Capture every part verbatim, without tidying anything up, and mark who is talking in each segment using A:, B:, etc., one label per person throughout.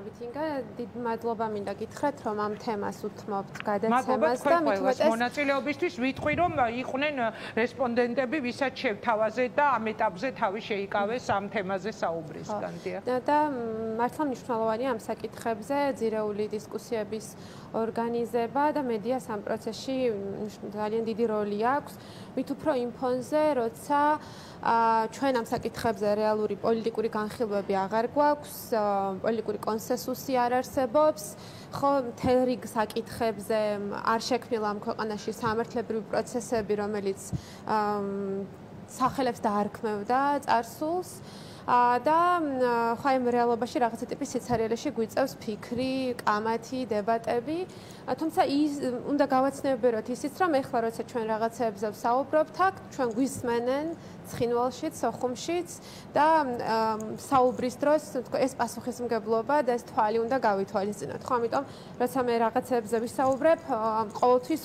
A: მოგესალმებით ინგა, დიდ მადლობა მინდა გითხრათ, რომ ამ თემას უთმობთ გადაცემას და მithumetes
B: მონაწილეობისთვის ვიტყვი, რომ იყვნენ რესპონდენტები, ვისაც შევთავაზეთ და ამ ეტაპზე თავი შეიკავეს ამ თემაზე საუბრისგან.
A: და მართლა მნიშვნელოვანია ამ საკითხებზე ძირეული დისკუსიების ორგანიზება და მედიას ამ პროცესში ძალიან დიდი როლი აქვს. მით უფრო იმ ფონზე, როცა ჩვენ ამ საკითხებზე რეალური პოლიტიკური განხილვები აღარ გვაქვს, პოლიტიკური კონსენსუსი არ არსებობს, ხო, მთელ რიგ საკითხებზე არ შექმნილა ამ ქვეყანაში სამართლებრივი პროცესები, რომელიც სახელებს დაარქმევდა წარსულს. და ხო ამ რეალობაში რაღაცა ტიპის სიცარიელეში გვიწევს ფიქრი, კამათი, დებატები. თუმცა ის უნდა გავაცნობიეროთ ისიც, რომ ეხლა როცა ჩვენ რაღაცეებზე ვსაუბრობთ, აქ ჩვენ გვისმენენ ცხინვალშიც, სოხუმშიც და საუბრის დროს ეს პასუხისმგებლობა და ეს თვალი უნდა გავითვალისწინოთ. ხო, ამიტომ როცა მე რაღაცეებზე ვისაუბრებ, ყოველთვის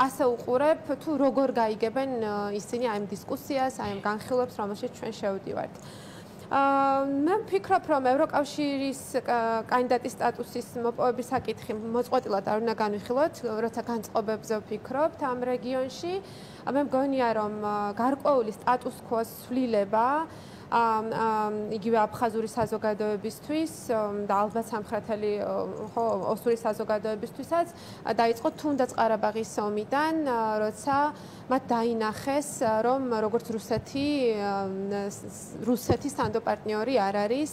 A: ასე უყურებ, თუ როგორ გაიგებენ ისინი აი ამ დისკუსიას, აი ამ განხილვებს, რომელშიც ჩვენ შევდივართ. მე ვფიქრობ, რომ ევროკავშირის კანდიდატის სტატუსის მოპოვების საკითხი მოწყვეტილად არ უნდა განვიხილოთ, როცა განწყობებზე ვფიქრობთ ამ რეგიონში. მე მგონია, რომ გარკვეული სტატუს quo-ს ცვლილება იგივე აფხაზური საზოგადოებისთვის და ალბათ სამხრეთელი ხო ოსური საზოგადოებისთვისაც დაიწყო თუნდაც ყარაბაღის ომიდან, როცა მათ დაინახეს, რომ როგორც რუსეთი რუსეთის სანდო პარტნიორი არ არის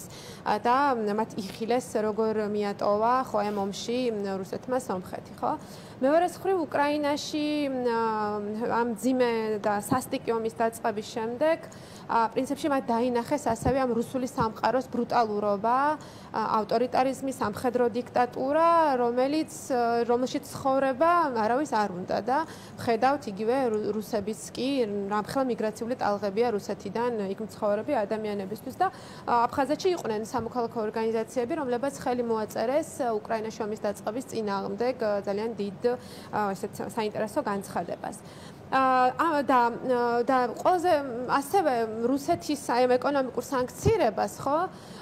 A: და მათ იხილეს, როგორ მიატოვა ხო ამ ომში რუსეთმა სომხეთი, ხო? მეორე მხრივ უკრაინაში ამ ძიმე და სასტიკი ომის დაწყების შემდეგ პრინციპში მათ დაინახეს ასევე ამ რუსული სამყაროს ბრუტალურობა, ავტორიტარიზმი, სამხედრო დიქტატურა, რომელიც რომელშიც ცხოვრება არავის არ უნდა და ხედავთ იგივე რუსებიც კი რამხელა მიგრაციული ტალღებია რუსეთიდან იქ მცხოვრები ადამიანებისთვის და აფხაზეთში იყვნენ სამოქალაქო ორგანიზაციები, რომლებიც ხელი მოაწერეს უკრაინაში ომის დაწყების წინააღმდეგ ძალიან დიდ ესეთ საინტერესო განცხადებას. და და ყველაზე ასევე რუსეთის აი ამ ეკონომიკურ სანქციირებას, ხო,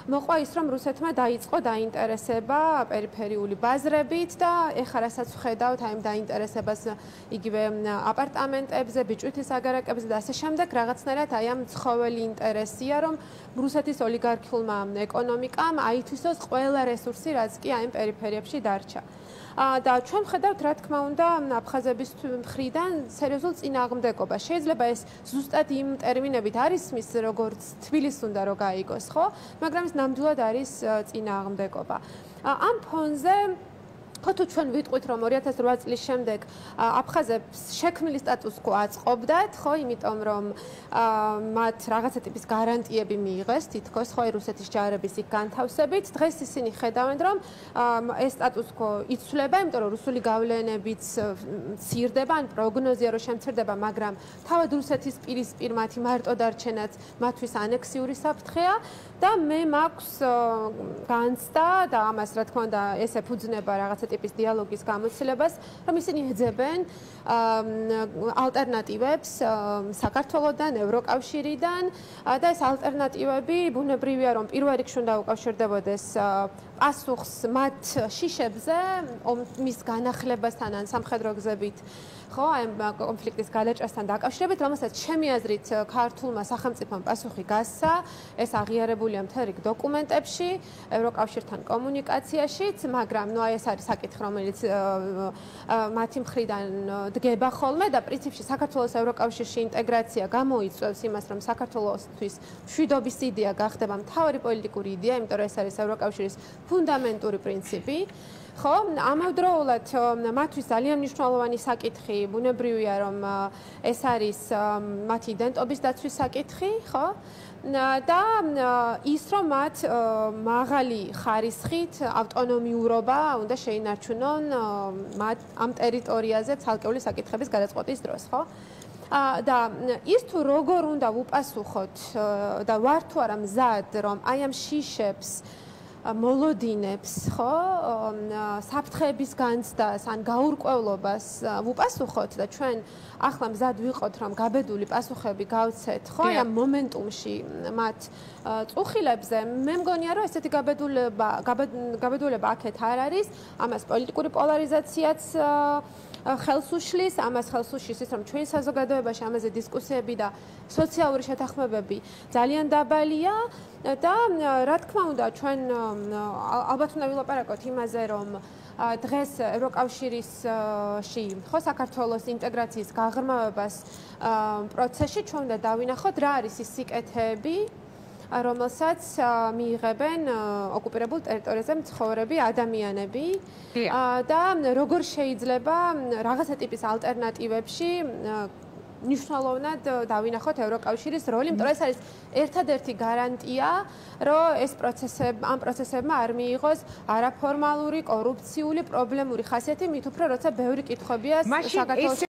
A: მოყვა ის, რომ რუსეთმა დაიწყო დაინტერესება პერიფერიული ბაზრებით და ეხლა რასაც ვხედავთ აი ამ დაინტერესებას იგივე აპარტამენტებზე, ბიჭვითის აგარაკებზე და ასე შემდეგ, რაღაცნაირად აი ამ ცხოველი ინტერესია, რომ რუსეთის ოლიგარქიულმა ეკონომიკამ აითვისოს ყველა რესურსი, რაც კი აი ამ პერიფერიებში დარჩა. და ჩვენ ვხედავთ, რა თქმა უნდა, აფხაზების მხრიდან სერიოზულ წინააღმდეგობა. შეიძლება ეს ზუსტად იმ ტერმინებით არ ისმის, როგორც თბილისს უნდა რომ გაიგოს, ხო? მაგრამ ეს ნამდვილად არის წინააღმდეგობა. ამ ფონზე ხო თუ ჩვენ ვიტყვით, რომ ორი ათას რვა წლის შემდეგ აფხაზებს შექმნილი სტატუს quo აწყობდათ, ხო, იმიტომ რომ მათ რაღაცა ტიპის გარანტიები მიიღეს, თითქოს ხო რუსეთის ჯარების იქ განთავსებით, დღეს ისინი ხედავენ, რომ ეს სტატუს quo იცვლება, იმიტომ რომ რუსული გავლენებიც მცირდება, ან პროგნოზია რომ შემცირდება, მაგრამ თავად რუსეთის პირისპირ მათი მარტო დარჩენაც მათთვის ანექსიური საფრთხეა და მე მაქვს განცდა და ამას რა თქმა უნდა ეს ეფუძნება რაღაცა ტიპის დიალოგის გამოცდილებას, რომ ისინი ეძებენ ალტერნატივებს საქართველოსთან, ევროკავშირიდან და ეს ალტერნატივები ბუნებრივია, რომ პირველ რიგში უნდა უკავშირდებოდეს პასუხს მათ შიშებზე, ომის განახლებასთან ან სამხედრო გზებით, ხო, ამ კონფლიქტის გადაჭრასთან დაკავშირებით, რომელსაც ჩემი აზრით ქართულმა სახელმწიფომ პასუხი გასცა, ეს აღიარებულია მთელ რიგ დოკუმენტებში, ევროკავშირთან კომუნიკაციაშიც, მაგრამ ნუ აი ეს არის საკითხი, რომელიც მათი მხრიდან დგება ხოლმე და პრინციპში საქართველოს ევროკავშირში ინტეგრაცია გამოიწვევს იმას, რომ საქართველოსთვის მშვიდობის იდეა გახდება მთავარი პოლიტიკური იდეა, იმიტომ რომ ეს არის ევროკავშირის ფუნდამენტური პრინციპი. ხო, ამავდროულად მათთვის ძალიან მნიშვნელოვანი საკითხი, ბუნებრივია, რომ ეს არის მათი იდენტობის დაცვის საკითხი, ხო? და ის, რომ მათ მაღალი ხარისხით ავტონომიურობა უნდა შეინარჩუნონ მათ ამ ტერიტორიაზე ცალკეული საკითხების გადაწყვეტის დროს, ხო? და ის თუ როგორ უნდა ვუპასუხოთ და ვარ თუ არა მზად, რომ აი ამ შიშებს მოლოდინებს, ხო, საფრთხეების განცდას, ან გაურკვევლობას ვუპასუხოთ და ჩვენ ახლა მზად ვიყოთ, რომ გაბედული პასუხები გავცეთ, ხო, ამ მომენტუმში მათ წუხილებზე, მე მგონია, რომ ესეთი გაბედულება, გაბედულება აქეთ არ არის, ამას პოლიტიკური პოლარიზაციაც ხელს უშლის, ამას ხელს უშლის ის, რომ ჩვენ საზოგადოებაში ამაზე დისკუსიები და სოციალური შეთანხმებები ძალიან დაბალია და რა თქმა უნდა, ჩვენ ალბათ უნდა ვილაპარაკოთ იმაზე, რომ დღეს ევროკავშირისში, ხო, საქართველოს ინტეგრაციის გაღრმავებას პროცესში ჩვენ უნდა დავინახოთ, რა არის ის სიკეთეები, რომელსაც მიიღებენ ოკუპირებულ ტერიტორიაზე მცხოვრები ადამიანები და როგორ შეიძლება რაღაცა ტიპის ალტერნატივებში მნიშვნელოვნად დავინახოთ ევროკავშირის როლი, იმიტომ რომ ეს არის ერთადერთი გარანტია, რომ ეს პროცესები, ამ პროცესებმა არ მიიღოს არაფორმალური, კორუფციული, პრობლემური ხასიათი, მით უფრო როცა ბევრი კითხვებია საქართველოს